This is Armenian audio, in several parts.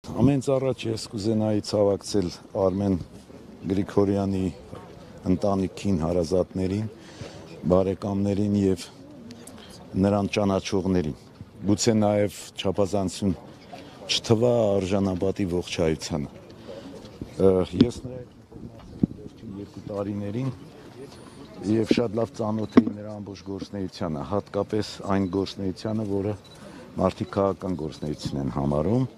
Ամենից առաջ ես կուզենայի ցավակցել Արմեն Գրիգորյանի ընտանիքին, հարազատներին, բարեկամներին եւ նրան ճանաչողներին։ Գուցե նաեւ չափազանցություն չթվա արժանապատի ողջայությանը։ Ես նրա վերջին 2 տարիներին եւ շատ լավ ծանոթ էի նրա ամբողջ գործունեությանը, հատկապես այն գործունեությանը, որը մարդիկ քաղաքական գործունեություն են համարում։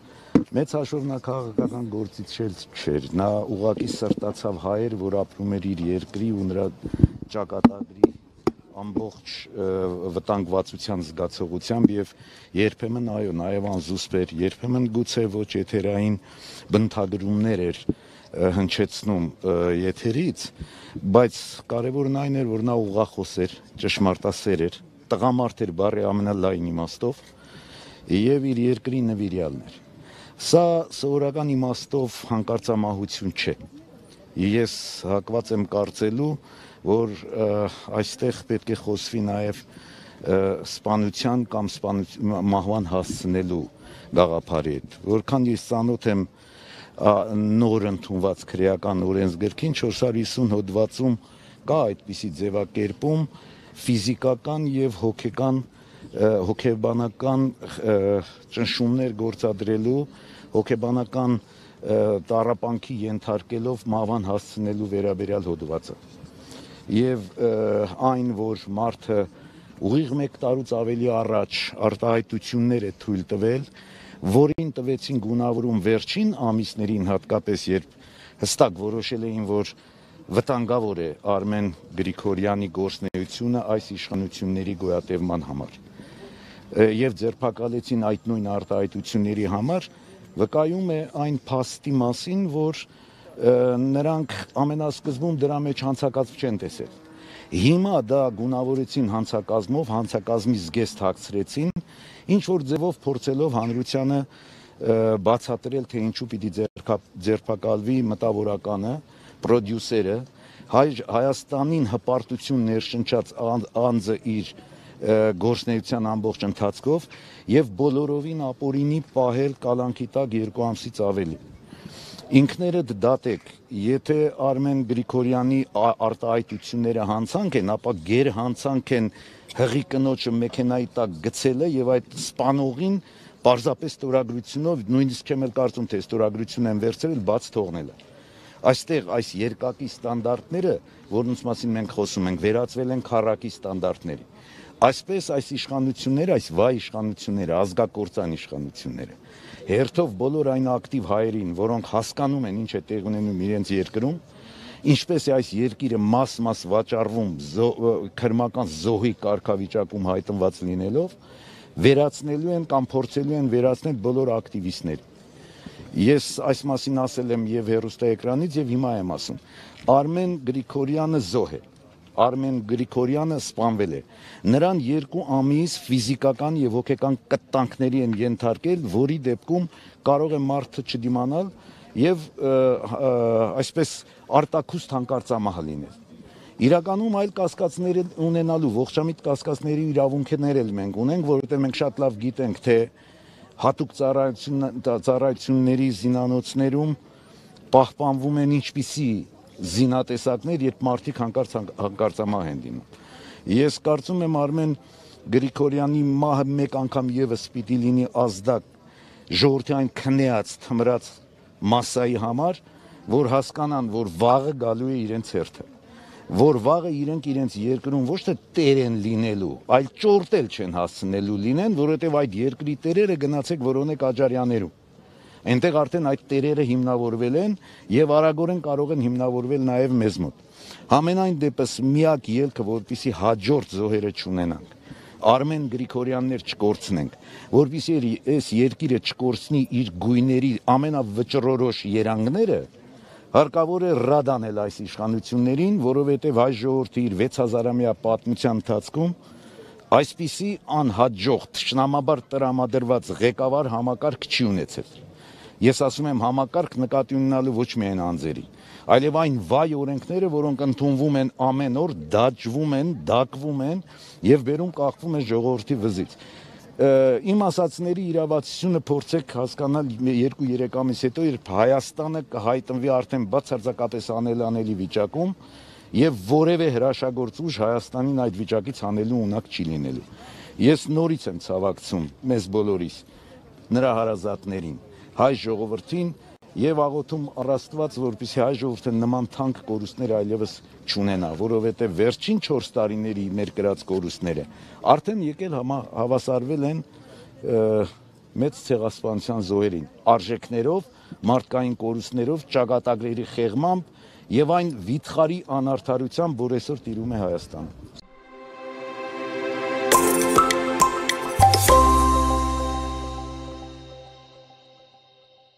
Մեծ հաշվով նա քաղաքական գործիչ չէր, նա ուղղակի սրտացավ հայեր, որ ապրում էր իր երկրի ու նրա ճակատագրի ամբողջ վտանգվածության զգացողությամբ եւ երբեմն այո, նաեւ անզուսպ էր, երբեմն գուցե ոչ եթերային բնութագրումներ էր հնչեցնում եթերից, բայց կարևորն այն էր, որ նա ուղղախոս էր, ճշմարտասեր էր, տղամարդ էր բառի ամենալայն իմաստով եւ իր երկրի նվիրյալն էր։ Սա սովորական իմաստով հանկարծամահություն չէ։ Ես հակված եմ կարծելու, որ այստեղ պետք է խոսվի նաև սպանության կամ մահվան հասցնելու գաղափարի հետ։ Որքան ես ծանոթ եմ նոր ընդունված քրեական օրենսգրքին 450 հոդվածում կա այդպիսի ձևակերպում ֆիզիկական եւ հոգեբանական ճնշումներ գործադրելու, հոգեբանական տառապանքի ենթարկելով մահվան հասցնելու վերաբերյալ հոդվածը։ Եվ այն, որ մարդը ուղիղ 1 տարուց ավելի առաջ արտահայտություններ է թույլ տվել, որին տվեցին գունավորում վերջին ամիսներին, հատկապես երբ հստակ որոշել էին, որ վտանգավոր է Արմեն Գրիգորյանի գործունեությունը այս իշխանությունների գոյատևման համար եւ ձերբակալեցին այդ նույն արտահայտությունների համար, վկայում է այն փաստի մասին, որ նրանք ամենասկզբում դրա մեջ հանցակազմ չեն տեսել։ Հիմա դա գունավորեցին հանցակազմով, հանցակազմի զգեստ հագցրեցին, ինչ որ ձևով փորձելով հանրությանը բացատրել, թե ինչու պիտի ձերբակալվի մտավորականը, պրոդյուսերը, Հայաստանին հպարտություն ներշնչած անձը իր գործունեության ամբողջ ընթացքով եւ բոլորովին ապօրինի պահել կալանքի տակ 2 ամսից ավելի։ Ինքներդ դատեք, եթե Արմեն Գրիգորյանի արտահայտությունները հանցանք են, ապա գերհանցանք են հղի կնոջը մեքենայի տակ գցելը եւ այդ սպանողին պարզապես ստորագրությունով, նույնիսկ չեմ էլ կարծում, թե ստորագրություն են վերցրել, բաց թողնելը։ Այստեղ այս երկակի ստանդարտները, որոնց մասին մենք խոսում ենք, վերածվել են քառակի ստանդարտների։ Այսպես այս իշխանությունները, այս վայ իշխանությունները, ազգակործան իշխանությունները, հերթով բոլոր այն ակտիվ հայերին, որոնք հասկանում են ինչ է տեղ ունենում իրենց երկրում, ինչպես է այս երկիրը մաս-մաս վաճառվում քրմական զոհի կարգավիճակում հայտնված լինելով, վերացնելու են կամ փորձելու են վերացնել բոլոր ակտիվիստները։ Ես այս մասին ասել եմ եւ հեռուստաէկրանից եւ հիմա եմ ասում։ Արմեն Գրիգորյանը զոհ է։ Արմեն Գրիգորյանը սպանվել է։ Նրան 2 ամիս ֆիզիկական եւ հոգեկան կտանքների են ենթարկել, որի դեպքում կարող է մարդը չդիմանալ եւ այսպես արտաքուստ հանկարծամահ լինել։ Իրականում այլ կասկածներ ունենալու ողջամիտ կասկածների իրավունքներ էլ մենք ունենք, որովհետեւ մենք շատ լավ գիտենք, թե հատուկ ծառայությունների զինանոցներում պահպանվում են ինչպիսի զինատեսակներ, երբ մարդիկ հանկարծամահ են լինում։ Ես կարծում եմ Արմեն Գրիգորյանի մահը մեկ անգամ եւս պիտի լինի ազդակ ժողովրդի այն քնեած, թմրած մասսայի համար, որ հասկանան, որ վաղը գալու է իրենց հերթը, որ վաղը իրենք իրենց երկրում ոչ թե տեր են լինելու, այլ ճորտել չեն հասցնելու լինեն, որովհետև այդ երկրի տերերը գնացեք որոնեք Աջարյաներում։ Այնտեղ արդեն այդ տերերը հիմնավորվել են եւ արագորեն կարող են հիմնավորվել նաեւ մեզ մոտ։ Համենայն դեպս միակ ելքը, որպեսզի հաջորդ զոհերը չունենանք, Արմեն Գրիգորյաններ չկորցնենք, որպեսզի այս երկիրը չկորցնի իր գույների ամենավճռորոշ երանգները, հարկավոր է ռադ անել այս իշխանություններին, որովհետև հայ ժողովրդի իր 6000-ամյա պատմության ընթացքում այսպիսի անհաջող թշնամաբար տրամադրված ղեկավար համակարգ չի ունեցել։ Ես ասում եմ համակարգ նկատի ունենալու ոչ միայն անձերի, այլև այն վայ օրենքները, որոնք ընդունվում են ամեն օր, դաջվում են, դակվում են եւ վերում կախվում են ժողովրդի վզից։ Իմ ասածների իրավացությունը փորձեք հասկանալ 2-3 ամիս հետո, երբ Հայաստանը կհայտնվի արդեն բացարձակապես անելանելի վիճակում եւ որևէ հրաշագործ ուժ Հայաստանին այդ վիճակից հանելու ունակ չի լինելու։ Ես նորից եմ ցավակցում մեզ բոլորիս, նրա հարազատներին, հայ ժողովրդին եւ աղոթում առ Աստված, որպեսզի հայ ժողովուրդը նման թանկ կորուստներ այլևս չունենա, որովհետեւ վերջին 4 տարիների մեր կրած կորուստները արդեն եկել հավասարվել են մեծ ցեղասպանության զոհերին, արժեքներով, մարդկային կորուստներով, ճակատագրերի խեղմամբ եւ այն վիթխարի անարդարությամբ, որ այսօր տիրում է Հայաստանում։